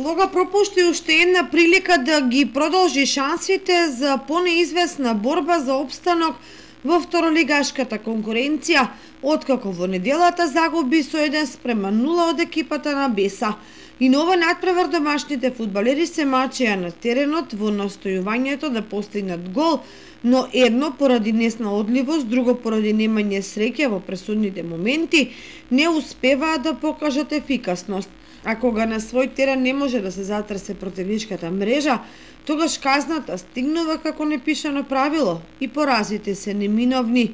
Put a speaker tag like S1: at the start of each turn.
S1: Лога пропушти уште една прилика да ги продолжи шансите за понеизвестна борба за опстанок во второлигашката конкуренција, откако во неделата загуби со 1:0 од екипата на Беса. И на ова надпревар домашните фудбалери се мачеа на теренот во настојувањето да постигнат гол, но едно поради неснаодливост, друго поради немање среќа во пресудните моменти, не успеваа да покажат ефикасност. А кога на свој терен не може да се затресе противничката мрежа, тогаш казната стигнува како непишано правило и поразите се неминовни.